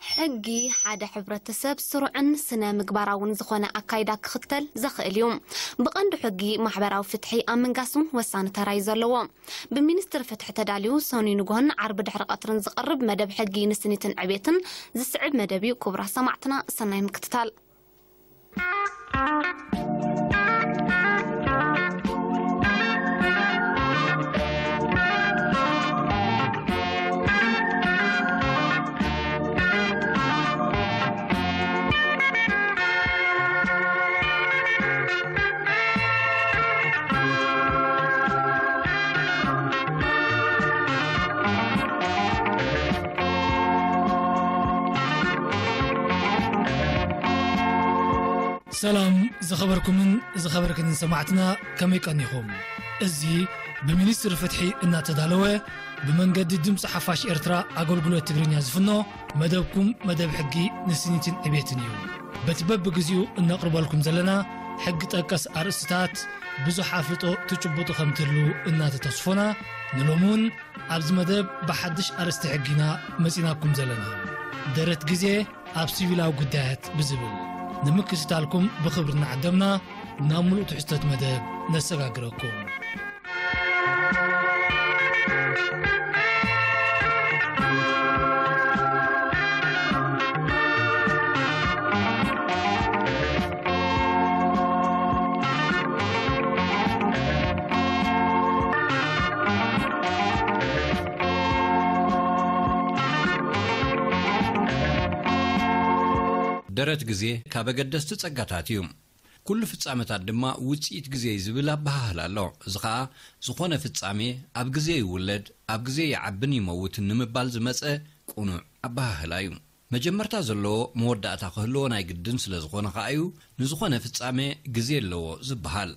ሕጊ ሓደ ሕብረተሰብ ስሩዕን ስነ ምግባራውን ዝኾነ ኣካይዳ ክኽተል ዘኽእል እዩ። ብቐንዱ ሕጊ ማሕበራዊ ፍትሒ ኣብ ምንጋስ እውን ወሳኒ ተራ እዩ ዘለዎ። ብሚኒስትሪ ፍትሒ ተዳልዩ ሰኑይ ንግሆን ዓርቢ ድሕሪ ቀትርን ዝቐርብ መደብ ሕጊ ንስኒትን ዕቤትን ዝስዕብ መደብ እዩ። ክቡራት ሰማዕትና ሰናይ ምክትታል። ሰላም ዝኸበርኩምን ዝኸበርክንን ሰማዕትና፣ ከመይ ቀኒኹም? እዚ ብሚኒስትሪ ፍትሒ እናተዳለወ ብመንገዲ ድምፂ ሓፋሽ ኤርትራ ኣገልግሎት ትግርኛ ዝፍኖ መደብኩም መደብ ሕጊ ንስኒትን ዕቤትን እዩ። በቲ በብግዚኡ እነቕርበልኩም ዘለና ሕጊ ጠቀስ ኣርእስትታት ብዙሕ ኣፍልጦ ትጭብጡ ከም ትህልዉ እናተተስፎና፣ ንሎሚ እውን ኣብዚ መደብ ብሓድሽ ኣርእስቲ ሕጊ ኢና መጺናኩም ዘለና። ደረት ግዜ ኣብ ሲቪላዊ ጉዳያት ብዝብል ንምክትታልኩም ብኽብሪ እናዓደምና ናብ ምሉእ ትሕዝቶት መደብ ነሰጋግረኩም። ደረት ግዜ ካብ ኣገደስቲ ጸጋታት እዩ። ኩሉ ፍጻመታት ድማ ውጽኢት ግዜ እዩ ዝብል ኣበሃህላ ኣሎ። እዚ ኸኣ ዝኾነ ፍጻሜ ኣብ ግዜ ይውለድ፣ ኣብ ግዜ ይዓብን ይመውትን ንምባል ዝመጸ ቅኑዕ ኣበሃህላ እዩ። መጀመርታ ዘለዎ መወዳእታ ክህልዎ ናይ ግድን ስለ ዝኾነ ኸኣ እዩ ንዝኾነ ፍጻሜ ግዜ ኣለዎ ዝበሃል።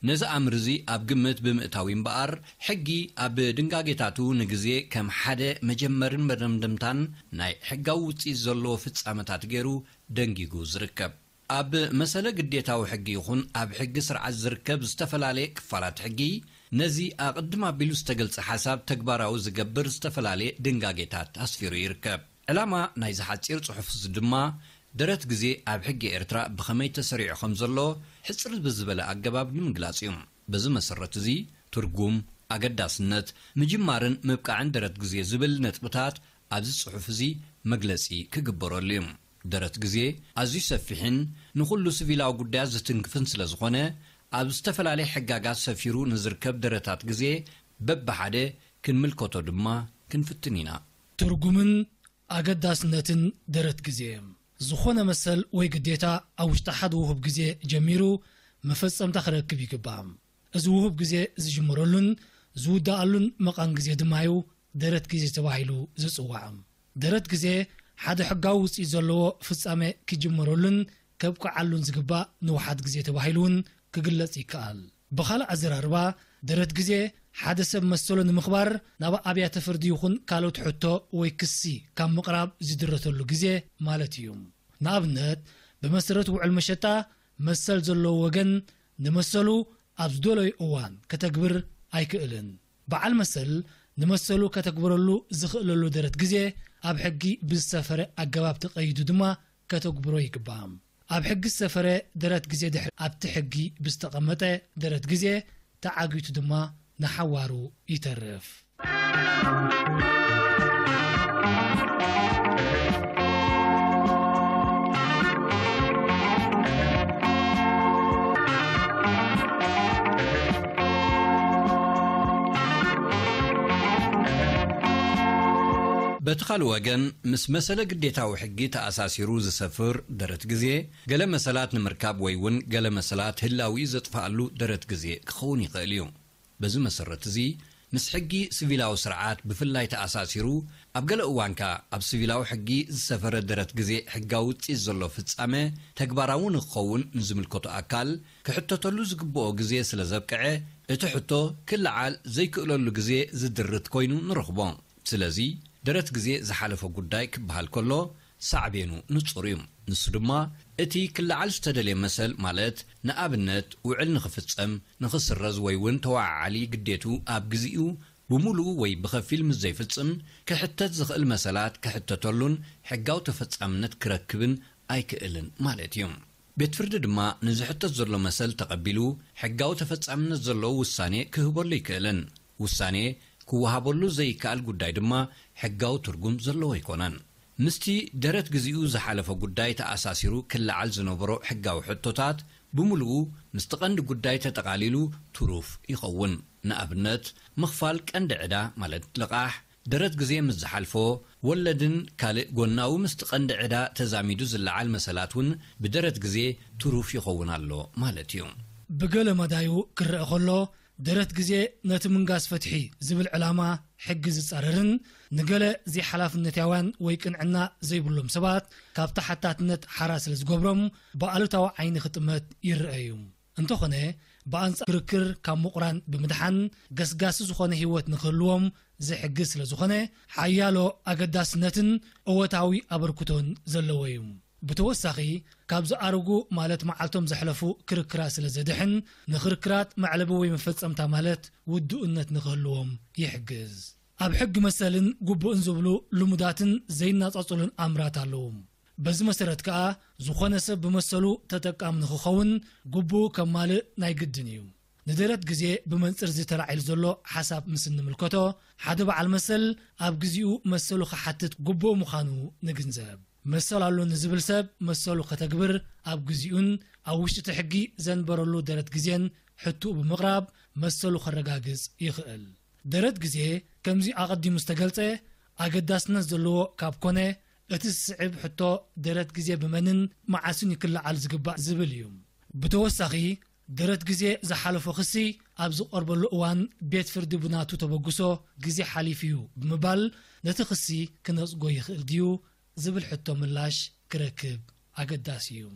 ነዚ ኣምር እዚ ኣብ ግምት ብምእታው እዩ እምበኣር፣ ሕጊ ኣብ ድንጋጌታቱ ንግዜ ከም ሓደ መጀመርን መደምደምታን ናይ ሕጋዊ ውጽኢት ዘለዎ ፍጻመታት ገይሩ ደንጊጉ ዝርከብ። ኣብ መሰለ ግዴታዊ ሕጊ ይኹን ኣብ ሕጊ ስርዓት ዝርከብ ዝተፈላለየ ክፋላት ሕጊ፣ ነዚ ኣቕድም ኣቢሉ ዝተገልጸ ሓሳብ ተግባራዊ ዝገብር ዝተፈላለየ ድንጋጌታት ኣስፊሩ ይርከብ። ዕላማ ናይዚ ሓጺር ጽሑፍ እዚ ድማ፣ ደረት ግዜ ኣብ ሕጊ ኤርትራ ብኸመይ ተሰሪዑ ከም ዘሎ ሕጽር ብዝበለ ኣገባብ ንምግላጽ እዩ። በዚ መሰረት እዚ፣ ትርጉም፣ ኣገዳስነት፣ ምጅማርን ምብቃዕን ደረት ግዜ ዝብል ነጥብታት ኣብዚ ጽሑፍ እዚ መግለጺ ክግበረሉ እዩ። ደረት ግዜ ኣዝዩ ሰፊሕን ንኹሉ ሲቪላዊ ጉዳያት ዝትንክፍን ስለ ዝኾነ፣ ኣብ ዝተፈላለየ ሕጋጋት ሰፊሩ ንዝርከብ ደረታት ግዜ በብሓደ ክንምልከቶ ድማ ክንፍትን ኢና። ትርጉምን ኣገዳስነትን ደረት ግዜ። ዝኾነ መሰል ወይ ግዴታ ኣብ ውሽጢ ሓደ ውሁብ ግዜ ጀሚሩ መፈጸምታ ክረክብ ይግባእ። እዚ ውሁብ ግዜ ዝጅመረሉን ዝውደኣሉን መቓን ግዜ ድማ እዩ ደረት ግዜ ተባሂሉ ዝጽዋዕ። ደረት ግዜ ሓደ ሕጋዊ ውጽኢት ዘለዎ ፍጻሜ ክጅመረሉን ከብቅዓሉን ዝግባእ ንውሓት ግዜ ተባሂሉ እውን ክግለጽ ይከኣል። ብኻልእ ኣዘራርባ፣ ደረት ግዜ ሓደ ሰብ መሰሉ ንምኽባር ናብ ኣብያተ ፍርዲ ይኹን ካልኦት ሕቶ ወይ ክሲ ካብ ምቕራብ ዝድረተሉ ግዜ ማለት እዩ። ንኣብነት፣ ብመሰረት ውዕል መሸጣ፣ መሰል ዘለዎ ወገን ንመሰሉ ኣብ ዝደለዮ እዋን ከተግብር ኣይክእልን። በዓል መሰል ንመሰሉ ከተግብረሉ ዝኽእለሉ ደረት ግዜ ኣብ ሕጊ ብዝሰፈረ ኣገባብ ተቐይዱ ድማ ከተግብሮ ይግባእ። ኣብ ሕጊ ዝሰፈረ ደረት ግዜ ድሕሪ ኣብቲ ሕጊ ብዝተቐመጠ ደረት ግዜ ተዓጊቱ ድማ ንሓዋሩ ይተርፍ። በቲ ካልእ ወገን፣ ምስ መሰለ ግዴታዊ ሕጊ ተኣሳሲሩ ዝሰፍር ደረት ግዜ፣ ገለ መሰላት ንምርካብ ወይ እውን ገለ መሰላት ህላዊ ዘጥፍኣሉ ደረት ግዜ ክኸውን ይኽእል እዩ። በዚ መሰረት እዚ፣ ምስ ሕጊ ሲቪላዊ ስርዓት ብፍላይ ተኣሳሲሩ፣ ኣብ ገለ እዋን ከኣ ኣብ ሲቪላዊ ሕጊ ዝሰፈረ ደረት ግዜ ሕጋዊ ውጽኢት ዘሎ ፍጻመ ተግባራዊ ንክኸውን ንዝምልከቶ ኣካል ክሕተተሉ ዝግብኦ ግዜ ስለ ዘብቅዐ፣ እቲ ሕቶ ክለዓል ዘይክእለሉ ግዜ ዝድርት ኮይኑ ንረኽቦ። ስለዚ፣ ደረት ግዜ ዝሓለፎ ጉዳይ ክበሃል ከሎ፣ ሳዕቤኑ ንጹር እዩ። ንሱ ድማ፣ እቲ ክለዓል ዝተደልየ መሰል፣ ማለት፣ ንኣብነት፣ ውዕል ንኽፍጸም፣ ንኽስረዝ ወይ እውን ተወዓዓሊ ግዴቱ ኣብ ግዜኡ ብምሉኡ ወይ ብኸፊል ምስ ዘይፍጽም፣ ክሕተት ዝኽእል መሰላት ክሕተተሉን ሕጋዊ ተፈጻምነት ክረክብን ኣይክእልን ማለት እዩ። ቤት ፍርዲ ድማ ንዝሕተት ዘሎ መሰል ተቐቢሉ፣ ሕጋዊ ተፈጻምነት ዘለዎ ውሳኔ ክህበሉ ኣይክእልን። ውሳኔ ክወሃበሉ ዘይከኣል ጉዳይ ድማ ሕጋዊ ትርጉም ዘለዎ ኣይኮነን። ምስቲ ደረት ግዚኡ ዝሓለፈ ጉዳይ ተኣሳሲሩ ክለዓል ዝነበሮ ሕጋዊ ሕቶታት፣ ብምሉኡ ምስቲ ቀንዲ ጉዳይ ተጠቓሊሉ ትሩፍ ይኸውን። ንኣብነት፣ ምኽፋል ቀንዲ ዕዳ፣ ማለት ልቓሕ፣ ደረት ግዜ ምስ ዝሓልፎ፣ ወለድን ካልእ ጎናዊ ምስቲ ቀንዲ ዕዳ ተዛሚዱ ዝለዓል መሰላት እውን ብደረት ግዜ ትሩፍ ይኸውን ኣሎ ማለት እዩ። ብገለ መዳዩ ክረአ ከሎ፣ ደረት ግዜ ነቲ ምንጋስ ፍትሒ ዝብል ዕላማ ሕጊ ዝጻረርን ንገለ ዘይሓላፍነታውያን ወይ ቅንዕና ዘይብሎም ሰባት ካብ ተሓታትነት ሓራ ስለ ዝገብሮም ብኣሉታዊ ዓይኒ ክጥመት ይረአ እዩ። እንተኾነ፣ ብኣንጻር ክርክር ካብ ምቑራን ብምድሓን ገስጋሲ ዝኾነ ህይወት ንክህልዎም ዝሕግዝ ስለ ዝኾነ፣ ሓያሎ ኣገዳስነትን እወታዊ ኣበርክቶን ዘለዎ እዩ። ብተወሳኺ፣ ካብ ዝኣረጉ ማለት መዓልቶም ዘሕለፉ ክርክራት ስለ ዘድሕን፣ ንክርክራት መዕለቢ ወይ መፈጸምታ ማለት ውዱእነት ንክህልዎም ይሕግዝ። ኣብ ሕጊ መሰልን ግቡእን ዝብሉ ልሙዳትን ዘይነጻጸሉን ኣምራት ኣለዉ። በዚ መሰረት ከኣ፣ ዝኾነ ሰብ ብመሰሉ ተጠቃሚ ንክኸውን ግቡኡ ከማልእ ናይ ግድን እዩ። ንደረት ግዜ ብመንጽር እዚ ተላዒሉ ዘሎ ሓሳብ ምስ እንምልከቶ፣ ሓደ በዓል መሰል ኣብ ግዚኡ መሰሉ ክሓትት ግቡእ ምዃኑ ንግንዘብ። መሰል ኣሎኒ ዝብል ሰብ መሰሉ ከተግብር ኣብ ግዚኡን ኣብ ውሽጢ እቲ ሕጊ ዘንበረሉ ደረት ግዜን ሕቶኡ ብምቕራብ መሰሉ ከረጋግጽ ይኽእል። ደረት ግዜ ከምዚ ኣቐዲሙ ዝተገልጸ ኣገዳስነት ዘለዎ ካብ ኮነ፣ እቲ ዝስዕብ ሕቶ ደረት ግዜ ብመንን መዓስን እዩ ክለዓል ዝግባእ ዝብል እዩ። ብተወሳኺ፣ ደረት ግዜ ዝሓለፎ ክሲ ኣብ ዝቐርበሉ እዋን ቤት ፍርዲ ብናቱ ተበግሶ ግዜ ሓሊፉ እዩ ብምባል ነቲ ክሲ ክነጽጎ ይኽእል ድዩ ዝብል ሕቶ ምላሽ ክረክብ ኣገዳሲ እዩ።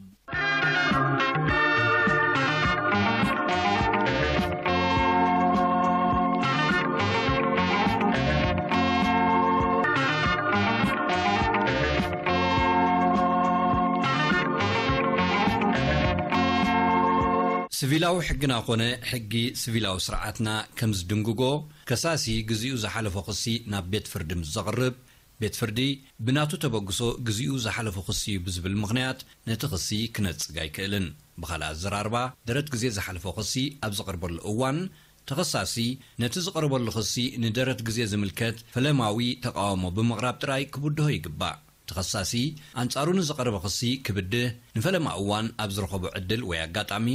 ስቪላዊ ሕግና ኮነ ሕጊ ስቪላዊ ስርዓትና ከም ዝድንግጎ፣ ከሳሲ ግዚኡ ዝሓለፎ ክሲ ናብ ቤት ፍርዲ ምስ ዘቕርብ፣ ቤት ፍርዲ ብናቱ ተበግሶ ግዚኡ ዝሓለፎ ክሲ እዩ ብዝብል ምኽንያት ነቲ ክሲ ክነጽግ ኣይክእልን። ብኻልእ ኣዘራርባ፣ ደረት ግዜ ዝሓለፎ ክሲ ኣብ ዝቐርበሉ እዋን፣ ተኸሳሲ ነቲ ዝቐርበሉ ክሲ ንደረት ግዜ ዝምልከት ፈለማዊ ተቓውሞ ብምቕራብ ጥራይ ክብድሆ ይግባእ። ተኸሳሲ ኣንጻሩ ንዝቐረበ ክሲ ክብድህ ንፈለማ እዋን ኣብ ዝረኸቦ ዕድል ወይ ኣጋጣሚ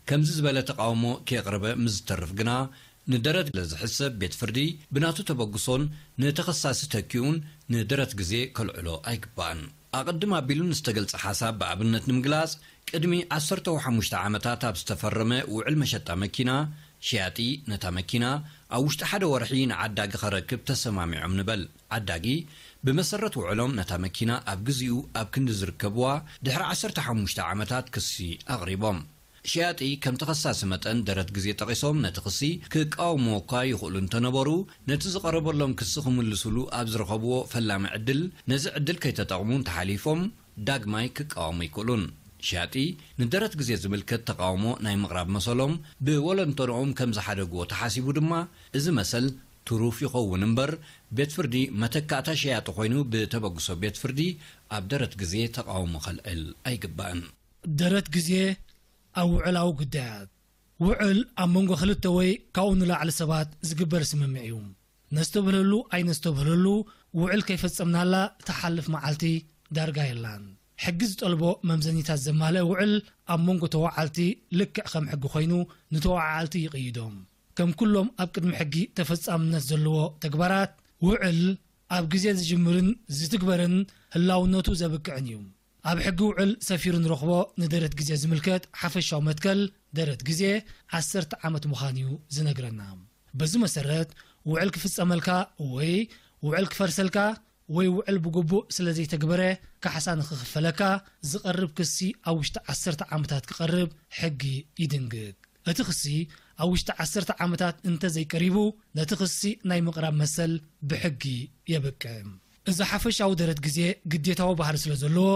ከምዚ ዝበለ ተቓውሞ ከየቕረበ ምስ ዝተርፍ ግና፣ ንደረት ለዝሕሰብ ቤት ፍርዲ ብናቱ ተበግሶን ንተኸሳሲ ተኪኡን ንደረት ግዜ ከልዕሎ ኣይግባእን። ኣቐድም ኣቢሉ ንዝተገልጸ ሓሳብ ብኣብነት ንምግላጽ፣ ቅድሚ ዓሰርተ ሓሙሽተ ዓመታት ኣብ ዝተፈረመ ውዕል መሸጣ መኪና፣ ሸያጢ ነታ መኪና ኣብ ውሽጢ ሓደ ወርሒ ንዓዳጊ ከረክብ ተሰማሚዖም ንበል። ዓዳጊ ብመሰረት ውዕሎም ነታ መኪና ኣብ ግዚኡ ኣብ ክንዲ ዝርከብዋ፣ ድሕሪ ዓሰርተ ሓሙሽተ ዓመታት ክሲ ኣቕሪቦም። ሸያጢ ከም ተኸሳሲ መጠን ደረት ግዜ ጠቒሶም ነቲ ክሲ ክቃወምዎ እኳ ይኽእሉ እንተነበሩ፣ ነቲ ዝቐረበሎም ክሲ ክምልስሉ ኣብ ዝረኸብዎ ፈላሚ ዕድል፣ ነዚ ዕድል ከይተጠቕሙ እንተሓሊፎም፣ ዳግማይ ክቃወሙ ኣይክእሉን። ሸያጢ ንደረት ግዜ ዝምልከት ተቓውሞ ናይ ምቕራብ መሰሎም ብወለንተንኦም ከም ዝሓደግዎ ተሓሲቡ ድማ፣ እዚ መሰል ትሩፍ ይኸውን እምበር፣ ቤት ፍርዲ መተካእታ ሸያጢ ኮይኑ ብተበግሶ ቤት ፍርዲ ኣብ ደረት ግዜ ተቓውሞ ከልዕል ኣይግባእን። ደረት ግዜ ኣብ ውዕላዊ ጉዳያት። ውዕል ኣብ መንጎ ክልተ ወይ ካብኡ ንላዕሊ ሰባት ዝግበር ስምምዕ እዩ። ነስተብህለሉ ኣይነስተብህለሉ፣ ውዕል ከይፈጸምናላ ትሓልፍ መዓልቲ ዳርጋ የላን። ሕጊ ዝጠልቦ መምዘኒታት ዘማልአ ውዕል ኣብ መንጎ ተዋዓልቲ ልክዕ ከም ሕጊ ኮይኑ ንተዋዓዓልቲ ይቕይዶም። ከም ኩሎም ኣብ ቅድሚ ሕጊ ተፈጻምነት ዘለዎ ተግባራት፣ ውዕል ኣብ ግዜ ዝጅምርን ዝትግበርን ህላውነቱ ዘብቅዕን እዩ። ኣብ ሕጊ ውዕል ሰፊሩ ንረኽቦ ንደረት ግዜ ዝምልከት ሓፈሻዊ መትከል ደረት ግዜ ዓሰርተ ዓመት ምዃኑ እዩ ዝነግረና። በዚ መሰረት፣ ውዕል ክፍጸመልካ ወይ ውዕል ክፈርሰልካ ወይ ውዕል ብግቡእ ስለ ዘይተግበረ ካሕሳ ንኽኽፈለካ ዝቐርብ ክሲ ኣብ ውሽጢ ዓሰርተ ዓመታት ክቐርብ ሕጊ ይድንግግ። እቲ ክሲ ኣብ ውሽጢ ዓሰርተ ዓመታት እንተ ዘይቀሪቡ፣ ነቲ ክሲ ናይ ምቕራብ መሰል ብሕጊ የብቅዕ። እዚ ሓፈሻዊ ደረት ግዜ ግዴታዊ ባህሪ ስለ ዘለዎ፣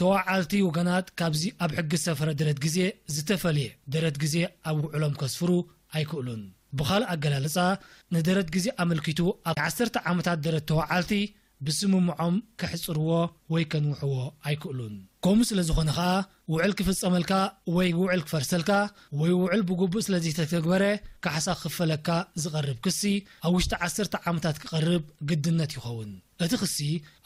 ተዋዓልቲ ወገናት ካብዚ ኣብ ሕጊ ዝሰፈረ ደረት ግዜ ዝተፈልየ ደረት ግዜ ኣብ ውዕሎም ከስፍሩ ኣይክእሉን። ብኻልእ ኣገላልጻ፣ ንደረት ግዜ ኣመልኪቱ ኣብ ዓሰርተ ዓመታት ደረት ተወዓልቲ ብስምምዖም ከሕጽርዎ ወይ ከንውሕዎ ኣይክእሉን። ከምኡ ስለ ዝኾነ ኸኣ፣ ውዕል ክፍጸመልካ ወይ ውዕል ክፈርሰልካ ወይ ውዕል ብግቡእ ስለ ዘይተተግበረ ካሕሳ ክኽፈለካ ዝቐርብ ክሲ ኣብ ውሽጢ ዓሰርተ ዓመታት ክቐርብ ግድነት ይኸውን። እቲ ክሲ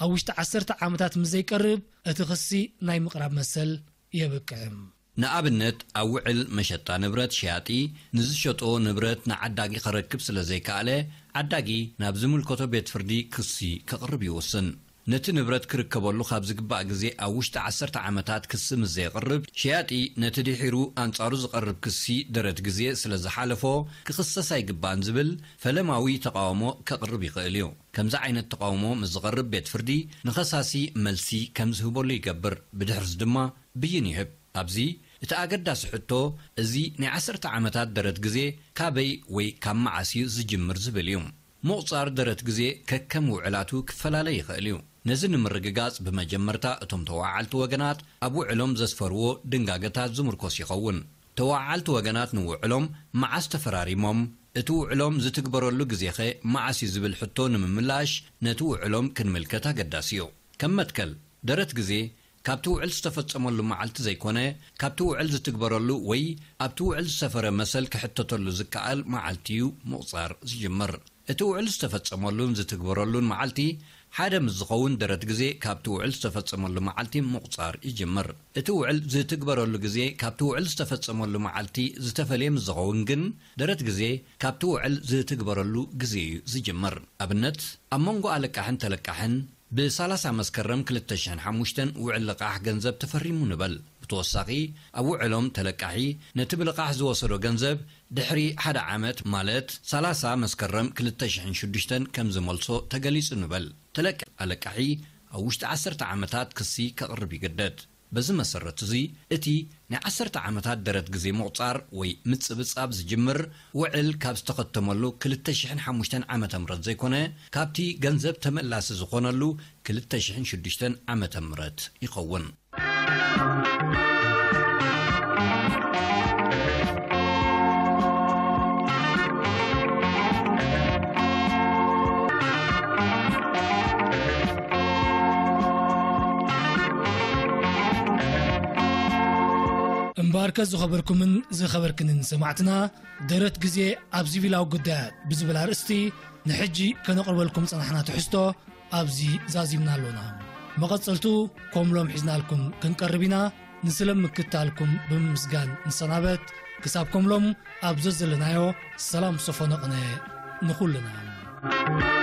ኣብ ውሽጢ ዓሰርተ ዓመታት ምስ ዘይቀርብ፣ እቲ ክሲ ናይ ምቕራብ መሰል የብቅዕም። ንኣብነት፣ ኣብ ውዕል መሸጣ ንብረት ሸያጢ ንዝሸጦ ንብረት ንዓዳጊ ከረክብ ስለ ዘይከኣለ፣ ዓዳጊ ናብ ዝምልከቶ ቤት ፍርዲ ክሲ ከቕርብ ይውስን። ነቲ ንብረት ክርከበሉ ካብ ዝግባእ ግዜ ኣብ ውሽጢ ዓሰርተ ዓመታት ክሲ ምስ ዘየቕርብ፣ ሸያጢ ነቲ ድሒሩ ኣንጻሩ ዝቐርብ ክሲ ደረት ግዜ ስለ ዝሓለፎ ክኽሰስ ኣይግባእን ዝብል ፈለማዊ ተቓውሞ ከቕርብ ይኽእል እዩ። ከምዚ ዓይነት ተቓውሞ ምስ ዝቐርብ ቤት ፍርዲ ንኸሳሲ መልሲ ከም ዝህበሉ ይገብር። ብድሕርዚ ድማ ብይን ይህብ። ኣብዚ እቲ ኣገዳሲ ሕቶ እዚ ናይ ዓሰርተ ዓመታት ደረት ግዜ ካበይ ወይ ካብ መዓስ እዩ ዝጅምር ዝብል እዩ። ምቑጻር ደረት ግዜ ከከም ውዕላቱ ክፈላለ ይኽእል እዩ። ነዚ ንምርግጋጽ ብመጀመርታ እቶም ተወዓዓልቲ ወገናት ኣብ ውዕሎም ዘስፈርዎ ድንጋገታት ዝምርኮስ ይኸውን። ተወዓዓልቲ ወገናት ንውዕሎም መዓስ ተፈራሪሞም፣ እቲ ውዕሎም ዝትግበረሉ ግዜኸ መዓስ እዩ ዝብል ሕቶ ንምምላሽ ነቲ ውዕሎም ክንምልከት ኣገዳሲ እዩ። ከም መትከል፣ ደረት ግዜ ካብቲ ውዕል ዝተፈጸመሉ መዓልቲ ዘይኮነ፣ ካብቲ ውዕል ዝትግበረሉ ወይ ኣብቲ ውዕል ዝሰፈረ መሰል ክሕተተሉ ዝከኣል መዓልቲ እዩ ምቑጻር ዝጅምር። እቲ ውዕል ዝተፈጸመሉን ዝትግበረሉን መዓልቲ ሓደ ምስ ዝኸውን ደረት ግዜ ካብቲ ውዕል ዝተፈጸመሉ መዓልቲ ምቑጻር ይጅምር። እቲ ውዕል ዝትግበረሉ ግዜ ካብቲ ውዕል ዝተፈጸመሉ መዓልቲ ዝተፈልየ ምስ ዝኸውን ግን ደረት ግዜ ካብቲ ውዕል ዝትግበረሉ ግዜ እዩ ዝጅምር። ኣብነት፣ ኣብ መንጎ ኣለቃሕን ተለቃሕን ብ30 መስከረም ክልተ ሽሕን ሓሙሽተን ውዕል ልቓሕ ገንዘብ ተፈሪሙ ንበል። ብተወሳኺ፣ ኣብ ውዕሎም ተለቃሒ ነቲ ብልቓሕ ዝወሰዶ ገንዘብ ድሕሪ ሓደ ዓመት፣ ማለት ሠላሳ መስከረም ክልተ ሽሕን ሽዱሽተን ከም ዝመልሶ ተገሊጹ ንበል። ተለቃ-፣ ኣለቃሒ ኣብ ውሽጢ ዓሰርተ ዓመታት ክሲ ከቕርብ ይግደድ። በዚ መሰረት እዚ፣ እቲ ናይ ዓሰርተ ዓመታት ደረት ግዜ ምቑጻር ወይ ምጽብጻብ ዝጅምር፣ ውዕል ካብ ዝተኸተመሉ ክልተ ሽሕን ሓሙሽተን ዓመተ ምህረት ዘይኮነ፣ ካብቲ ገንዘብ ተመላሲ ዝኾነሉ ክልተ ሽሕን ሽዱሽተን ዓመተ ምህረት ይኸውን። እምበኣርከ ዝኸበርኩምን ዝኸበርክንን ሰማዕትና፣ ደረት ግዜ ኣብ ሲቪላዊ ጉዳያት ብዝብል ኣርእስቲ ንሕጂ ከነቕርበልኩም ጸናሕና ትሕዝቶ ኣብዚ ዛዚምና ኣሎና። መቐጸልቱ ከምሎም ሒዝናልኩም ክንቀርብ ኢና። ንስለ ምክታልኩም ብምምስጋን ንሰናበት። ክሳብ ከምሎም ኣብ ዘዘለናዮ ሰላም ሰፈነ ቅነ ንኹልና።